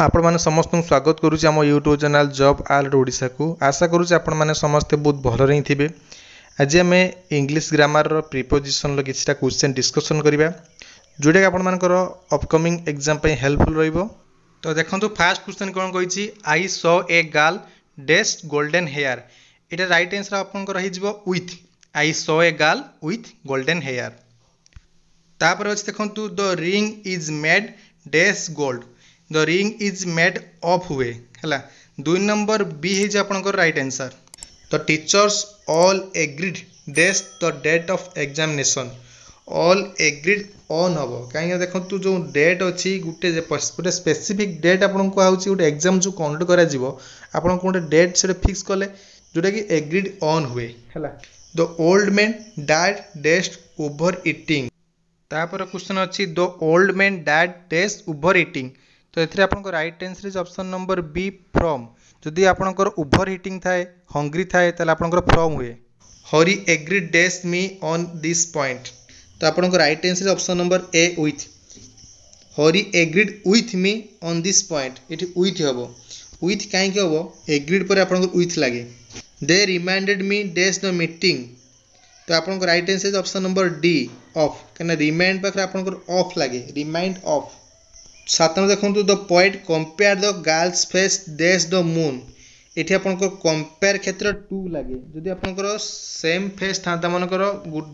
ଆପଣମାନେ ସମସ୍ତଙ୍କୁ ସ୍ୱାଗତ କରୁଛି ଆମ ୟୁଟ୍ୟୁବ୍ ଚ୍ୟାନେଲ୍ ଜବ୍ ଆଲର୍ଟ ଓଡ଼ିଶାକୁ। ଆଶା କରୁଛି ଆପଣମାନେ ସମସ୍ତେ ବହୁତ ଭଲରେ ହିଁ ଥିବେ। ଆଜି ଆମେ ଇଂଲିଶ ଗ୍ରାମାରର ପ୍ରିପୋଜିସନ୍ର କିଛିଟା କ୍ୱେଶ୍ଚନ୍ ଡିସ୍କସନ୍ କରିବା, ଯେଉଁଟାକି ଆପଣମାନଙ୍କର ଅପକମିଂ ଏକ୍ଜାମ୍ ପାଇଁ ହେଲ୍ପଫୁଲ୍ ରହିବ। ତ ଦେଖନ୍ତୁ, ଫାର୍ଷ୍ଟ କ୍ୱେଶ୍ଚନ୍ କ'ଣ କହିଛି? I saw a girl dash golden hair. ଏଇଟା ରାଇଟ୍ ଆନ୍ସର୍ ଆପଣଙ୍କର ହେଇଯିବ with. I saw a girl with golden hair. ତାପରେ ଅଛି ଦେଖନ୍ତୁ, the ring is made dash gold. The ring is made of ହୁଏ, ହେଲା। ଦୁଇ ନମ୍ବର ବି ହେଇଯିବ ଆପଣଙ୍କର right answer. The teachers all agreed dash the date of examination. All agreed on ହେବ। କାହିଁକିନା ଦେଖନ୍ତୁ, ଯେଉଁ ଡେଟ୍ ଅଛି, ଗୋଟେ ସ୍ପେସିଫିକ୍ ଡେଟ୍ ଆପଣଙ୍କୁ କୁହାହେଉଛି। ଗୋଟେ ଏକ୍ଜାମ୍ ଯେଉଁ କଣ୍ଡକ୍ଟ କରାଯିବ, ଆପଣଙ୍କୁ ଗୋଟେ ଡେଟ୍ ସେଟା ଫିକ୍ସ କଲେ, ଯେଉଁଟାକି ଏଗ୍ରିଡ୍ ଅନ୍ ହୁଏ, ହେଲା। The old man died dash over eating. ତାପରେ କ୍ୱେଶ୍ଚନ୍ ଅଛି, the old man died dash over eating. ତ ଏଥିରେ ଆପଣଙ୍କ right answer is option number B, from. ଯଦି ଆପଣଙ୍କର ଓଭର ଇଟିଂ ଥାଏ, ହଙ୍ଗରି ଥାଏ, ତାହେଲେ ଆପଣଙ୍କର ଫ୍ରମ୍ ହୁଏ। Hari agree dash me on this point. ତ ଆପଣଙ୍କ right answer option number A, with. Hari agreed with me on this point. ଏଠି ୱିଥ୍ ହେବ। ୱିଥ୍ କାହିଁକି ହେବ? ଏଗ୍ରିଡ୍ ପରେ ଆପଣଙ୍କର ୱିଥ୍ ଲାଗେ। They reminded me dash the meeting. ତ ଆପଣଙ୍କ right answer is option number D, of. କାହିଁକିନା ରିମାଇଣ୍ଡ ପାଖରେ ଆପଣଙ୍କର ଅଫ୍ ଲାଗେ, ରିମାଇଣ୍ଡ ଅଫ୍। ସାତ ନମ୍ବର ଦେଖନ୍ତୁ, the poet compare the girl's face dash the moon. ଏଠି ଆପଣଙ୍କର କମ୍ପେୟାର କ୍ଷେତ୍ରରେ ଟୁ ଲାଗେ। ଯଦି ଆପଣଙ୍କର ସେମ୍ ଫେସ୍ ଥାନ୍ତା, ମନେକର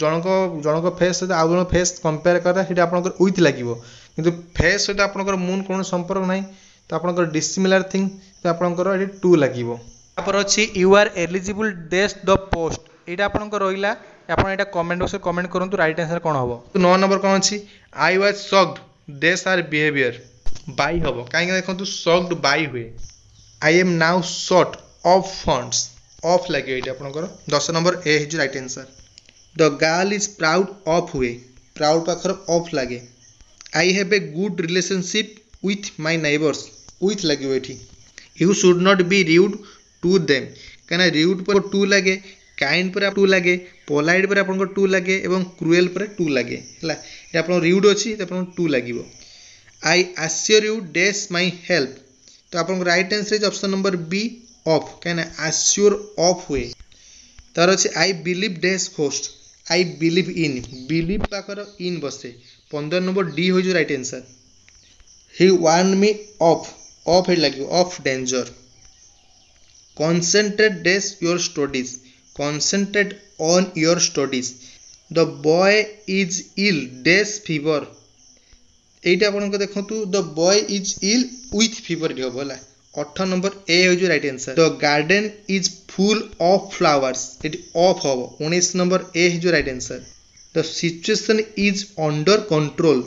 ଜଣଙ୍କ ଫେସ୍ ସହିତ ଆଉ ଜଣଙ୍କ ଫେସ୍ କମ୍ପେୟାର କରା, ସେଠି ଆପଣଙ୍କର ୱିଥ୍ ଲାଗିବ। କିନ୍ତୁ ଫେସ୍ ସହିତ ଆପଣଙ୍କର ମୁନ୍ କୌଣସି ସମ୍ପର୍କ ନାହିଁ, ତ ଆପଣଙ୍କର ଡିସିମିଲାର ଥିଙ୍ଗ, ତ ଆପଣଙ୍କର ଏଠି ଟୁ ଲାଗିବ। ତାପରେ ଅଛି, you are eligible dash the post. ଏଇଟା ଆପଣଙ୍କର ରହିଲା। ଆପଣ ଏଇଟା କମେଣ୍ଟ ବକ୍ସରେ କମେଣ୍ଟ କରନ୍ତୁ, ରାଇଟ୍ ଆନ୍ସର୍ କ'ଣ ହେବ। ନଅ ନମ୍ବର କ'ଣ ଅଛି? I was shocked dash her behaviour. By ହେବ। କାହିଁକିନା ଦେଖନ୍ତୁ, ସକ୍ଡ ବାଇ ହୁଏ। I am now short of funds. Of ଲାଗିବ ଏଇଠି ଆପଣଙ୍କର। ଦଶ ନମ୍ବର ଏ ହେଇଯିବ right answer. The girl is proud of ହୁଏ। ପ୍ରାଉଡ୍ ପାଖରେ ଅଫ୍ ଲାଗେ। I have a good relationship with my neighbours. With ଲାଗିବ ଏଠି। You should not be rude to them. କାହିଁକିନା ରିଉଡ୍ ପରେ ଟୁ ଲାଗେ, କାଇଣ୍ଡ ପରେ ଟୁ ଲାଗେ, ପୋଲାଇଟ୍ ପରେ ଆପଣଙ୍କର ଟୁ ଲାଗେ ଏବଂ କ୍ରୁଏଲ୍ ପରେ ଟୁ ଲାଗେ, ହେଲା। ଏଇଟା ଆପଣଙ୍କ ରିଉଡ୍ ଅଛି, ତ ଆପଣଙ୍କୁ ଟୁ ଲାଗିବ। I assure you dash my help. ତ ଆପଣଙ୍କ right answer is option number B, of. କାହିଁକିନା ଆସିଓର ଅଫ୍ ହୁଏ। ତାର ଅଛି, I believe dash ghost. I believe in. Believe ପାଖରେ ଇନ୍ ବସେ। ପନ୍ଦର ନମ୍ବର ଡି ହୋଇଯିବ right answer. He warn me of. Of ଏଠି ଲାଗିବ, of danger. Concentrate dash your studies. Concentrate on your studies. The boy is ill dash fever. ଏଇଟା ଆପଣଙ୍କ ଦେଖନ୍ତୁ, the boy is ill with fever ଏଠି ହେବ, ହେଲା। ଅଠର ନମ୍ବର ଏ ହେଉଛି right answer. The garden is full of flowers. ଏଠି of ହେବ। ଉଣେଇଶ ନମ୍ବର ଏ ହେଇଯିବ right answer. The situation is under control.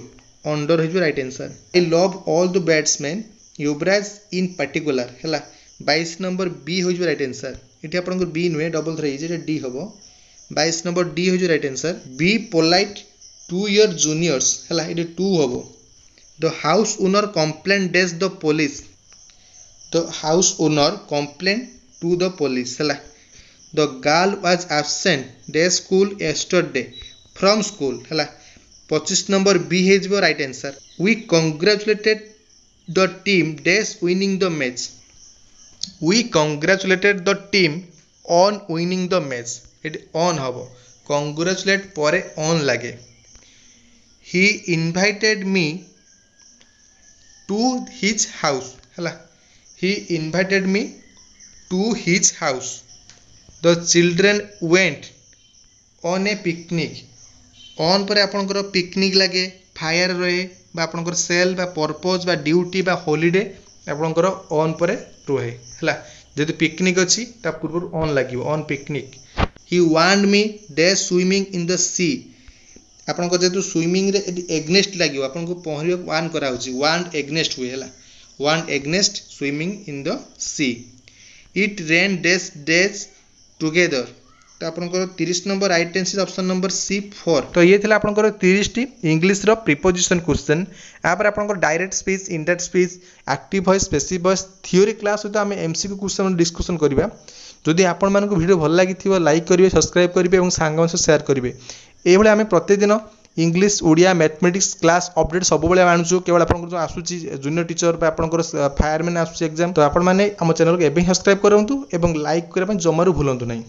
Under ହେଇଯିବ right answer. I love all the batsman, Yuvraj in particular, ହେଲା। ବାଇଶ number ବି ହୋଇଯିବ right answer. ଏଠି ଆପଣଙ୍କର ବି ନୁହେଁ, ଡବଲ୍ ଥର ହେଇଛି, ଏଟା ଡି ହେବ। ବାଇଶ ନମ୍ବର ଡି ହୋଇଯିବ right answer. Be polite to your juniors, ହେଲା, ଏଠି ଟୁ ହେବ। The house owner complain dash the police. The house owner complain to the police, ହେଲା। The girl was absent dash school yesterday. From school, ହେଲା। ପଚିଶ number ବି ହେଇଯିବ right answer. We congratulated the team dash winning the match. We congratulated the team on winning the match. ଏଠି on ହେବ। କଂଗ୍ରାଚୁଲେଟ୍ ପରେ on ଲାଗେ। He invited me to his house, ହେଲା। He invited me to his house. The children went on a picnic. On ପରେ ଆପଣଙ୍କର picnic ଲାଗେ, fire ରହେ ବା ଆପଣଙ୍କର ସେଲ୍ ବା ପର୍ପୋଜ୍ ବା ଡ୍ୟୁଟି ବା ହଲିଡେ ଆପଣଙ୍କର ଅନ୍ ପରେ ରୁହେ, ହେଲା। ଯଦି ପିକନିକ୍ ଅଛି, ତା ପୂର୍ବରୁ ଅନ୍ ଲାଗିବ, on picnic. He warned me dash swimming in the sea. ଆପଣଙ୍କର ଯେହେତୁ ସୁଇମିଂରେ ଏଠି ଏଗନେଷ୍ଟ ଲାଗିବ, ଆପଣଙ୍କୁ ପହଁରିବାକୁ ୱାର୍ନ କରାହେଉଛି, ୱାର୍ନ ଏଗନେଷ୍ଟ ହୁଏ, ହେଲା। Warn against swimming in the sea. It rain dash days together. ତ ଆପଣଙ୍କର ତିରିଶ number right answer option number C, four. ତ ଇଏ ଥିଲା ଆପଣଙ୍କର ତିରିଶଟି ଇଂଲିଶର ପ୍ରିପୋଜିସନ୍ କ୍ୱେଶ୍ଚନ୍। ତାପରେ ଆପଣଙ୍କର direct speech, indirect speech, active voice, passive voice theory class ସହିତ ଆମେ M C Q question discussion କରିବା। ଯଦି ଆପଣମାନଙ୍କୁ ଭିଡ଼ିଓ ଭଲ ଲାଗିଥିବ, ଲାଇକ୍ କରିବେ, ସବସ୍କ୍ରାଇବ୍ କରିବେ ଏବଂ ସାଙ୍ଗମାନଙ୍କ ସହ ସେୟାର କରିବେ। ଏଇଭଳି ଆମେ ପ୍ରତିଦିନ English, Odia, mathematics class update ସବୁବେଳେ ଆଣୁଛୁ। କେବଳ ଆପଣଙ୍କର ଯେଉଁ ଆସୁଛି ଜୁନିୟର ଟିଚର ବା ଆପଣଙ୍କର ଫାୟାରମ୍ୟାନ୍ ଆସୁଛି ଏକ୍ଜାମ୍, ତ ଆପଣମାନେ ଆମ ଚ୍ୟାନେଲକୁ ଏବେ ହିଁ ସବସ୍କ୍ରାଇବ୍ କରନ୍ତୁ ଏବଂ ଲାଇକ୍ କରିବା ପାଇଁ ଜମାରୁ ଭୁଲନ୍ତୁ ନାହିଁ।